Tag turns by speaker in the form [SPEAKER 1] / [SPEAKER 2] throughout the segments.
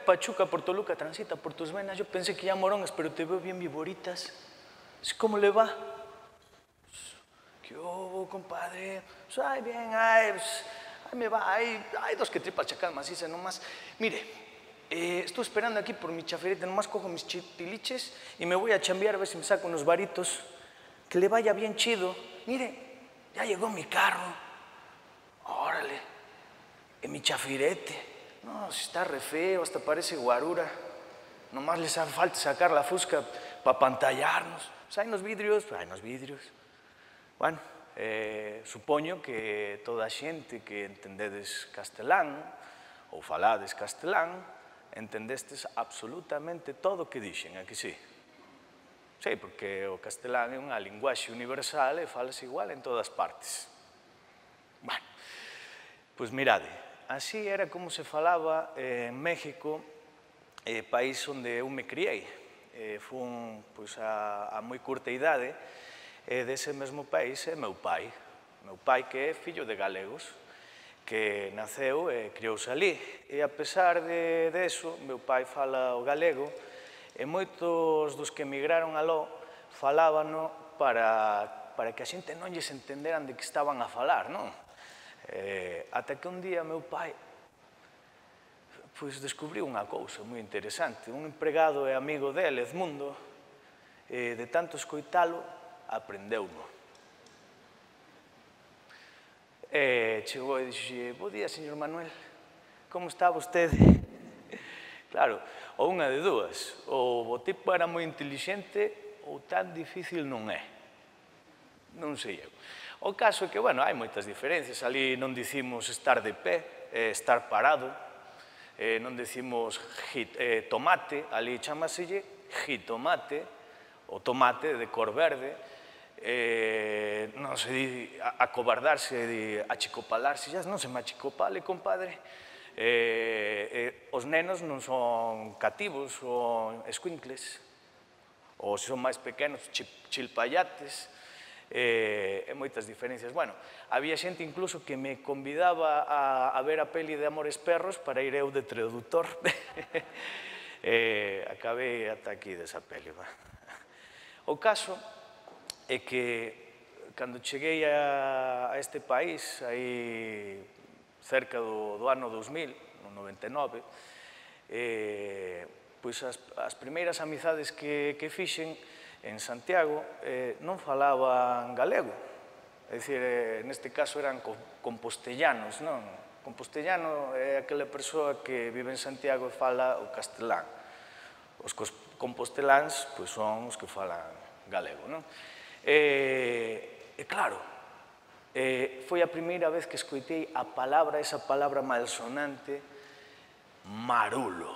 [SPEAKER 1] Pachuca por Toluca, transita por tus venas. Yo pensé que ya morongas, pero te veo bien viboritas. ¿Cómo le va? ¿Qué hubo, compadre? Pues, ay, bien, ay, pues, ahí me va, hay dos que tripas chacal maciza nomás. Mire, estoy esperando aquí por mi chaferita, nomás cojo mis chitiliches y me voy a chambear a ver si me saco unos varitos. Que le vaya bien chido. Mire, ya llegó mi carro. Órale, en mi chafirete. No, si está re feo, hasta parece guarura. Nomás les hace falta sacar la fusca para pantallarnos. Pues hai nos vidrios. Bueno, supoño que toda a xente que entendedes castelán ou falades castelán entendestes absolutamente todo o que dixen, a que sí? Sí, porque o castelán é unha linguaxe universal e falase igual en todas partes. Bueno, pois mirade, así era como se falaba en México, país onde eu me criei. Fun a moi curta idade, dese mesmo país é meu pai que é fillo de galegos, que naceu e criouse ali. E a pesar de eso, meu pai fala o galego, e moitos dos que emigraron aló falábano para que a xente non lles entenderan de que estaban a falar, non? Ata que un día meu pai descubriu unha cousa moi interesante. Un empregado e amigo dele, Edmundo, de tanto escoitalo, aprendeu-no. Chegou e dixo: bo día, señor Manuel, como está vostede? Claro, ou unha de dúas, ou o tipo era moi intelixente ou tan difícil non é. Non sei eu. O caso é que, bueno, hai moitas diferencias. Ali non dicimos estar de pé, estar parado, non decimos tomate, ali chamaselle jitomate, o tomate de cor verde, non se di acobardarse, di achicopalarse, xa non se me achicopale, compadre. Os nenos non son cativos, son escuincles, ou se son máis pequenos, chilpayates, e moitas diferencias. Bueno, había xente incluso que me convidaba a ver a peli de Amores Perros para ir eu de traductor. Acabei ata aquí desa peli. O caso é que cando cheguei a este país, aí cerca do ano 2000, no 99, pois as primeiras amizades que fixen en Santiago non falaban galego. É dicir, neste caso eran compostellanos, non? Compostellano é aquela persoa que vive en Santiago e fala o castelán. Os composteláns son os que falan galego, non? E claro, foi a primeira vez que escoitei esa palabra malsonante, marulo,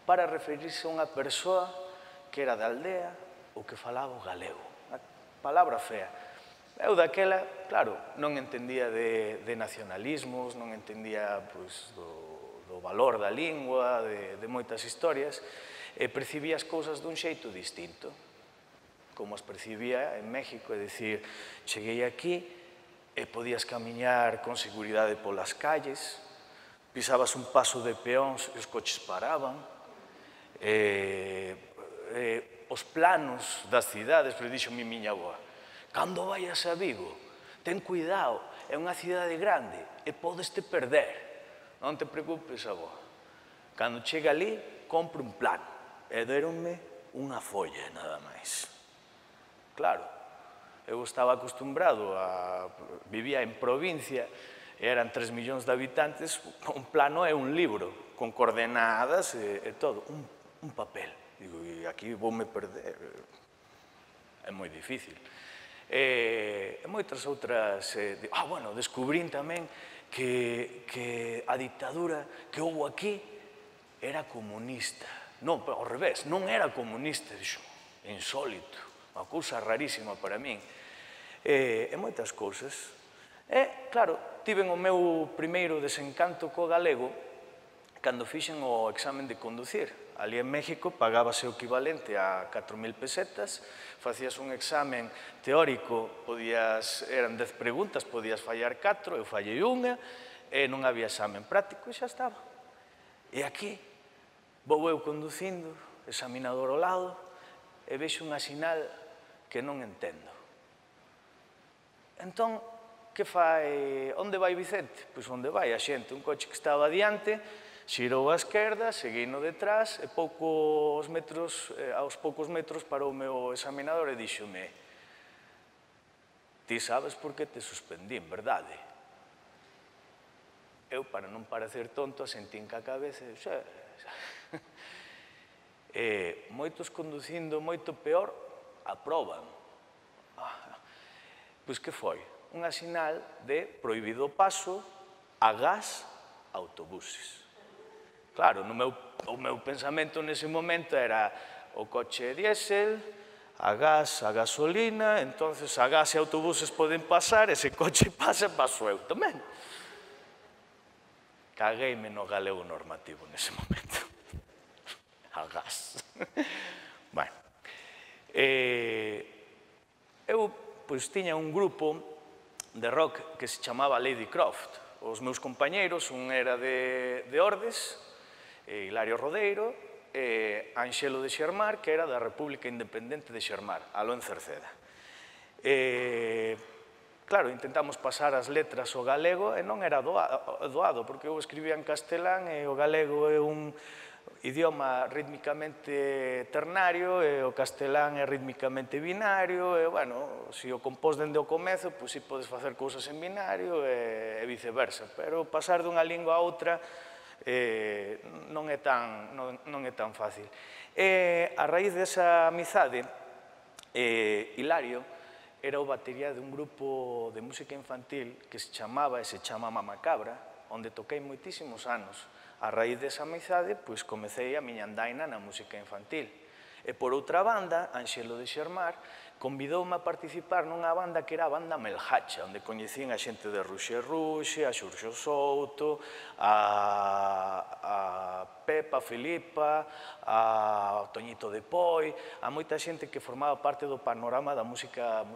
[SPEAKER 1] para referirse a unha persoa que era da aldea ou que falaba o galego. A palabra fea. Eu daquela, claro, non entendía de nacionalismos, non entendía do valor da lingua, de moitas historias, e percibía as cousas dun xeito distinto, como as percibía en México, é dicir, cheguei aquí e podías camiñar con seguridade polas calles, pisabas un paso de peóns e os coches paraban, os planos das cidades, pero dixo mi miña avoa, cando vayas a Vigo, ten cuidado, é unha cidade grande e podes te perder. Non te preocupes, avoa. Cando chega ali, compre un plan e deronme unha folla, nada máis. Claro, eu estaba acostumbrado vivía en provincia, eran 3 millóns de habitantes, un plano é un libro, con coordenadas e todo, un papel. Digo, e aquí voume perder, é moi difícil. E moitas outras... bueno, descubrín tamén que a dictadura que houve aquí era comunista. Non, ao revés, non era comunista, dixo, insólito, unha cousa rarísima para min. E moitas cousas. E, claro, tiven o meu primeiro desencanto co galego cando fixen o examen de conducir. Ali en México pagábase o equivalente a 4.000 pesetas, facías un examen teórico, eran 10 preguntas, podías fallar 4, eu fallei unha, e non había examen práctico e xa estaba. E aquí Vou eu conducindo, examinador ao lado, e vexo unha sinal que non entendo. Entón, que fai? Onde vai Vicente? Pois onde vai a xente, un coche que estaba adiante, xirou á esquerda, seguino detrás, e aos poucos metros parou o meu examinador e díxome: ti sabes por que te suspendín, verdade? Eu, para non parecer tonto, asentín ca cabeza e xa. Moitos conducindo moito peor aproban. Pois que foi? Unha sinal de prohibido paso a gas autobuses. Claro, o meu pensamento nese momento era o coche diésel, a gas, a gasolina, entonces a gas e autobuses poden pasar, ese coche pasa, paso eu tamén. Cagueime no galego normativo nese momento. A gas. Bueno, eu tiña un grupo de rock que se chamaba Lady Croft. Os meus compañeiros, un era de Ordes, Hilario Rodeiro, e Anxelo de Xermar, que era da República Independente de Xermar, aló en Cerceda. Claro, intentamos pasar as letras ao galego e non era doado, porque eu escribía en castelán e o galego é un idioma rítmicamente ternario e o castelán é rítmicamente binario e, bueno, se o compós dende o comezo, pois si podes facer cousas en binario e viceversa, pero pasar dunha lingua a outra non é tan fácil. A raíz desa amizade, Hilario era o batería dun grupo de música infantil que se chamaba e se chama Mamacabra, onde toquei moitísimos anos. A raíz desa amizade, pois comecei a miña andaina na música infantil. E por outra banda, Anxelo de Xermar convidoume a participar nunha banda que era a banda Melhacha, onde coñecín a xente de Ruxe Ruxe, a Xurxo Souto, a Pepa, a Filipa, a Toñito de Poi, a moita xente que formaba parte do panorama da música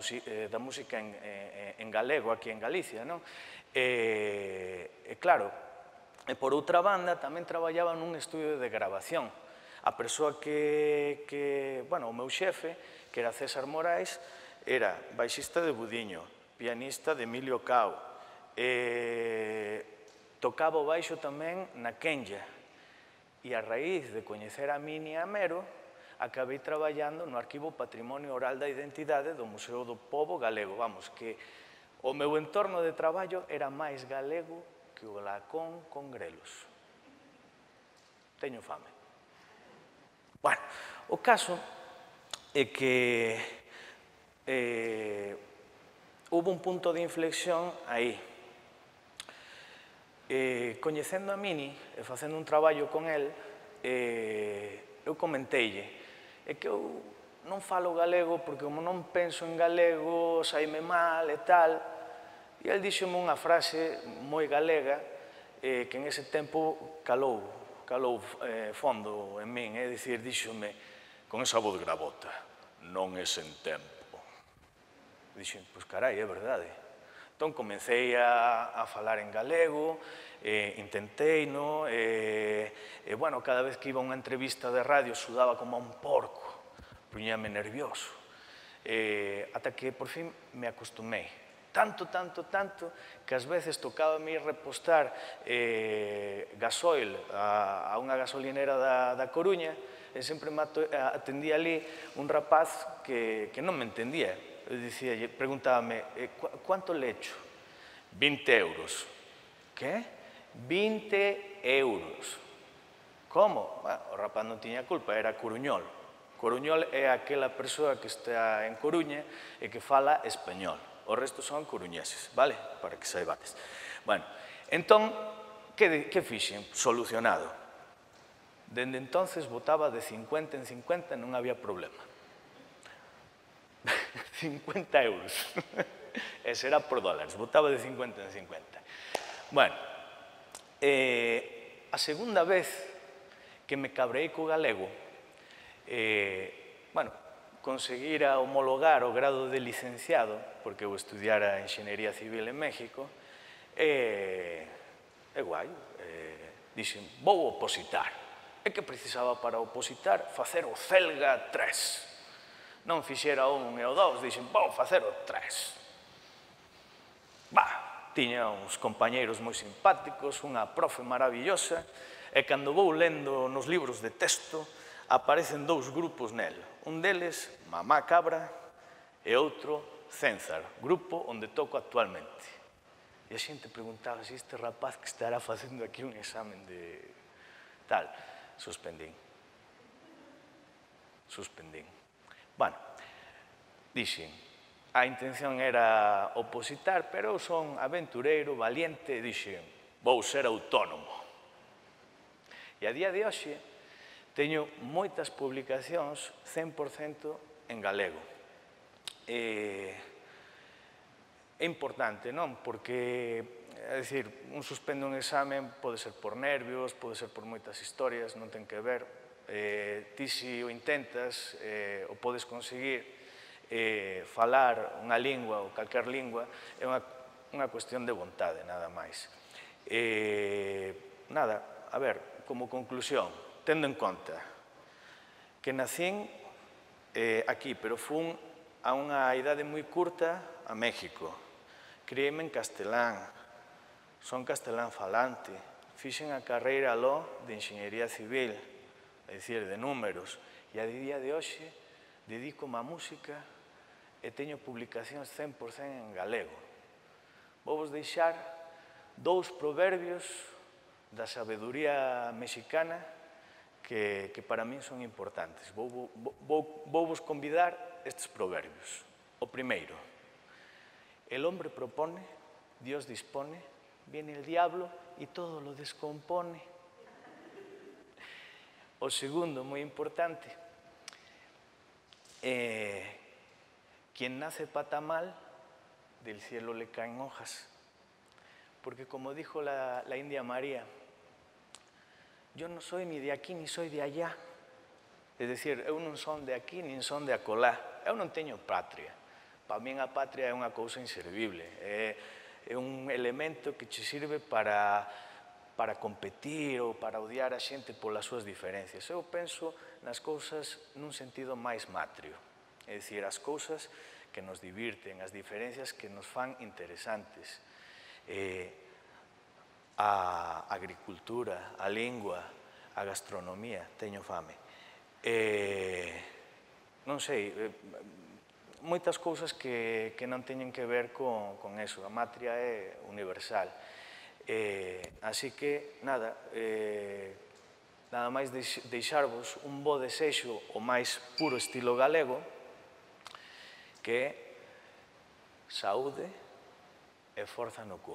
[SPEAKER 1] en galego aquí en Galicia, non? E claro, e por outra banda tamén traballaba nun estudio de grabación. A persoa o meu xefe, que era César Morais, era baixista de Budiño, pianista de Emilio Cao, tocaba o baixo tamén na Kenya, e a raíz de coñecer a Mini e a Mero, acabei traballando no Arquivo Patrimonio Oral da Identidade do Museo do Pobo Galego. Vamos, que o meu entorno de traballo era máis galego que o lacón con grelos. Teño fame. Bueno, o caso é que houve un punto de inflexión aí. Coñecendo a Mini e facendo un traballo con el, eu comenteille que eu non falo galego porque como non penso en galego, saime mal e tal, e el díxome unha frase moi galega que en ese tempo calou fondo en min, é dicir, díxome con esa voz gravota: non é sen tempo. Dixen, pois carai, é verdade. Entón comecei a falar en galego, intentei, bueno, cada vez que iba a unha entrevista de radio sudaba como un porco, puñame nervioso, ata que por fin me acostumei. Tanto, que ás veces tocaba a mí repostar gasoil a unha gasolinera da Coruña e sempre me atendía ali un rapaz que non me entendía. Eu preguntábame, ¿cuánto le echo? 20 euros. ¿Qué? 20 euros. Como? O rapaz non tiña culpa, era coruñol. Coruñol é aquela persoa que está en Coruña e que fala español. O resto son coruñeses, vale? Para que saibades. Bueno, entón, que fixen? Solucionado. Dende entonces votaba de 50 en 50, non había problema. 50 euros. Ese era por dólares, votaba de 50 en 50. Bueno, a segunda vez que me cabreei co galego, bueno, conseguira homologar o grado de licenciado, porque eu estudiara Enxeñería Civil en México, guai, dixen, vou opositar. E que precisaba para opositar? Facer o Celga 3. Non fixera o 1 e o 2, dixen, vou facer o 3. Tiña uns compañeiros moi simpáticos, unha profe maravillosa, e cando vou lendo nos libros de texto, aparecen dous grupos nel. Un deles, Mamá Cabra, e outro, Cénzar, grupo onde toco actualmente. E a xente preguntaba se este rapaz que estará facendo aquí un examen de tal. Suspendín. Bueno, dixen, a intención era opositar, pero eu son aventureiro, valiente, e dixen, vou ser autónomo. E a día de hoxe teño moitas publicacións 100% en galego. É importante, non? Porque, é dicir, un suspende un examen pode ser por nervios, pode ser por moitas historias, non ten que ver. Ti se o intentas, o podes conseguir, falar unha lingua ou calquer lingua, é unha cuestión de vontade, nada máis. Nada, a ver, como conclusión, tendo en conta que nacín aquí, pero fun a unha idade moi curta a México. Criéme en castelán, son castelán falante, fixen a carreira aló de Enxeñería Civil, é dicir, de números, e a día de hoxe dedico-me á música e teño publicacións 100% en galego. Vou vos deixar dous proverbios da sabeduría mexicana que para min son importantes. Vou vos convidar estes proverbios. O primeiro, el hombre propone, Dios dispone, viene el diablo y todo lo descompone. O segundo, moi importante, quien nace patamal, del cielo le caen hojas. Porque como dijo la India María, yo non soy ni de aquí ni soy de allá. É dicir, eu non son de aquí nin son de acolá. Eu non teño patria. Para min a patria é unha cousa inservible. É un elemento que che sirve para competir ou para odiar a xente polas súas diferencias. Eu penso nas cousas nun sentido máis matrio. É dicir, as cousas que nos divirten, as diferencias que nos fan interesantes. A agricultura, a lingua, a gastronomía, teño fame. Non sei, moitas cousas que non teñen que ver con eso. A matria é universal. Así que, nada máis deixarvos un bo desexo o máis puro estilo galego, que é saúde e forza no cu.